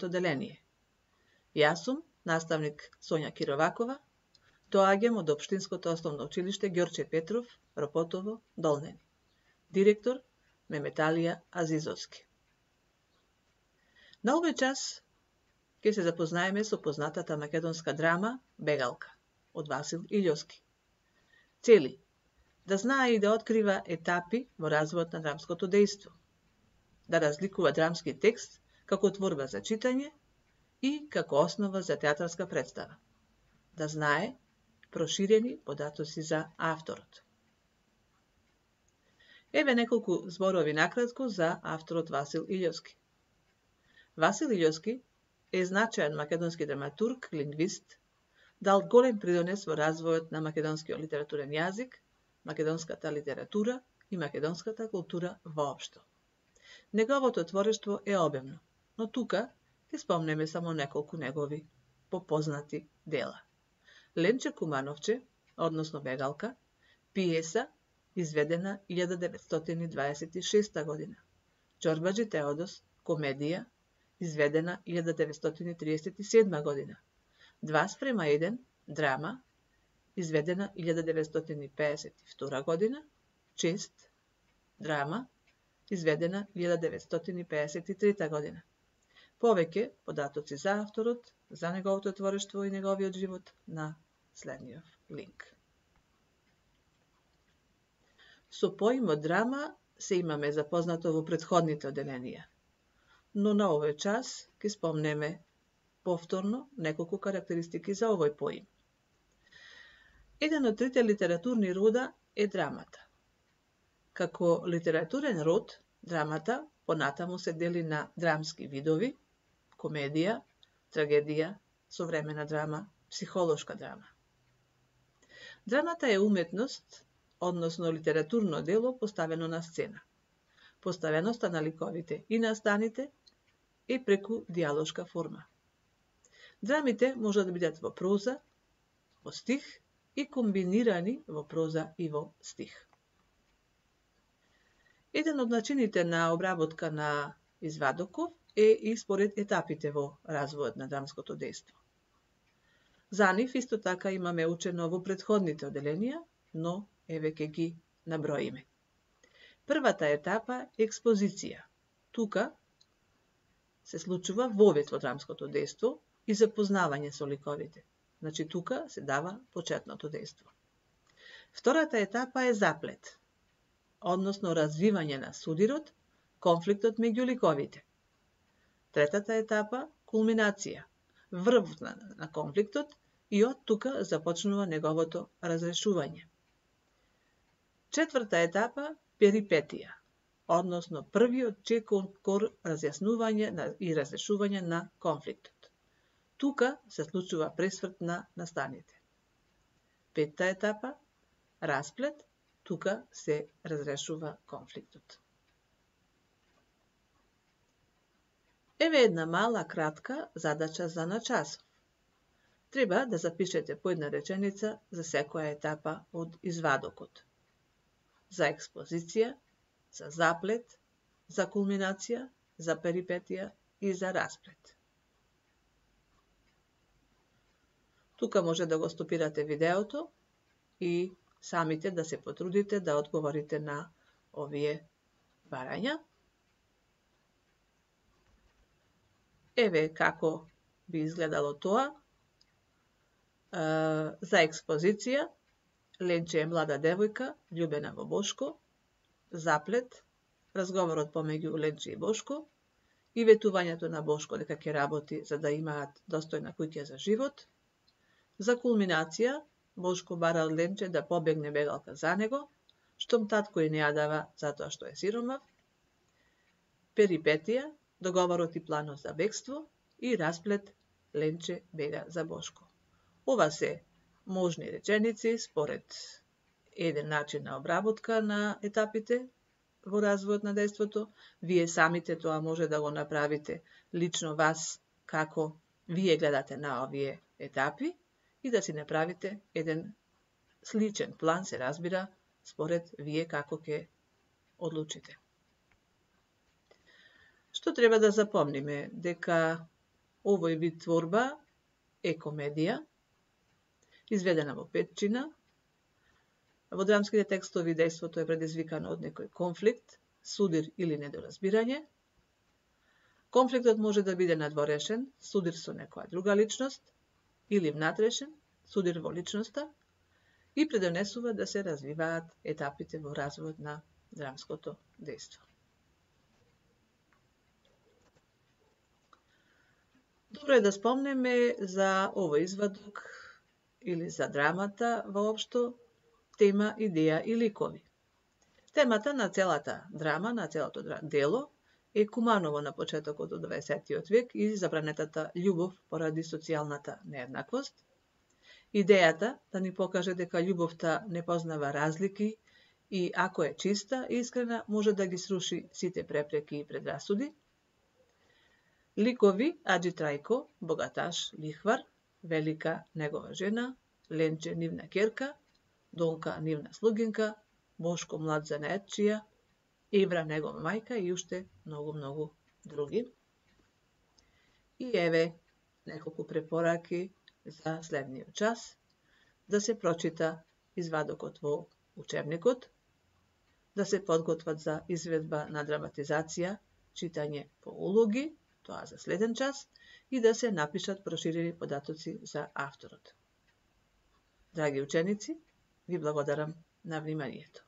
одделение. Јас сум наставник Сонја Кировакова, доаѓам од Општинското основно училиште Ѓорче Петров, Ропотово, Долнени. Директор Меметалија Азизовски. На овој час ќе се запознаеме со познатата македонска драма Бегалка од Васил Илјовски. Цели да знае и да открива етапи во развојот на драмското дејство, да разликува драмски текст како творба за читање и како основа за театарска представа, да знае проширени податоци за авторот. Еве неколку зборови накратко за авторот Васил Илјовски. Васил Илјовски е значаен македонски драматург, лингвист, дал голем придонес во развојот на македонскиот литературен јазик, македонската литература и македонската култура воопшто. Неговото творештво е обемно, но тука ќе спомнеме само неколку негови попознати дела. Ленче Кумановче, односно Бегалка, пиеса изведена 1926 година. Џорбаџи Теодос, комедија, изведена 1937 година. 2:1, драма, изведена 1952 година. Чест, драма, изведена 1953 година. Повеќе податоци за авторот, за неговото творештво и неговиот живот на следниот линк. Со поимот драма се имаме запознато во претходните одделенија, но на овој час ќе спомнеме повторно неколку карактеристики за овој поим. Еден од трите литературни рода е драмата. Како литературен род, драмата понатаму се дели на драмски видови, комедија, трагедија, современа драма, психолошка драма. Драмата е уметност, односно литературно дело поставено на сцена. Поставеноста на ликовите и настаните е преку диалошка форма. Драмите можат да бидат во проза, во стих и комбинирани во проза и во стих. Еден од начините на обработка на извадоков е и според етапите во развојот на драмското дејство. За нив исто така имаме учено во претходните одделенија, но еве ќе ги наброиме. Првата етапа е експозиција. Тука се случува вовед во драмското дејство и запознавање со ликовите. Значи тука се дава почетното дејство. Втората етапа е заплет, односно развивање на судирот, конфликтот меѓу ликовите. Третата етапа – кулминација, врв на конфликтот и од тука започнува неговото разрешување. Четврта етапа – перипетија, односно првиот чекор разјаснување и разрешување на конфликтот. Тука се случува пресврт на настаните. Петта етапа – расплет, тука се разрешува конфликтот. Еве една мала кратка задача за на часов. Треба да запишете по една реченица за секоја етапа од извадокот. За експозиција, за заплет, за кулминација, за перипетија и за расплет. Тука може да го стопирате видеото и самите да се потрудите да одговорите на овие барања. Еве како би изгледало тоа. За експозиција, Ленче е млада девојка, љубена во Бошко. Заплет, разговорот помеѓу Ленче и Бошко и ветувањето на Бошко дека ќе работи за да имаат достојна куќа за живот. За кулминација, Бошко бара од Ленче да побегне Бегалка за него, штом татко и не ја дава затоа што е сиромав. Перипетија, договорот и планот за бегство и расплет, Ленче бега за Бошко. Ова се можни реченици според еден начин на обработка на етапите во развојот на дејството. Вие самите тоа може да го направите лично вас како вие гледате на овие етапи и да си направите еден сличен план, се разбира, според вие како ќе одлучите. Што треба да запомниме? Дека Овој вид творба е комедија, изведена во петчина. Во драмските текстови дејството е предизвикано од некој конфликт, судир или недоразбирање. Конфликтот може да биде надворешен, судир со некоја друга личност, или внатрешен, судир во личноста, и предонесува да се развиваат етапите во развојот на драмското дејство. Добро е да спомнеме за овој извадок или за драмата воопшто, тема, идеја и ликови. Темата на целата драма, на целото дело, е Куманово на почетокот од 20 век и забранетата љубов поради социјалната нееднаквост. Идејата да ни покаже дека љубовта не познава разлики и ако е чиста и искрена, може да ги сруши сите препреки и предрасуди. Ликови: Аџи Трајко, богаташ, лихвар; Велика, негова жена; Ленче, нивна ќерка; Донка, нивна слугинка; Бошко, млад занаетчија; Евра, негова мајка и уште многу други. И еве неколку препораки за следниот час: да се прочита извадокот во учебникот, да се подготват за изведба на драматизација, читање по улоги, тоа за следен час, и да се напишат проширени податоци за авторот. Драги ученици, ви благодарам на вниманието.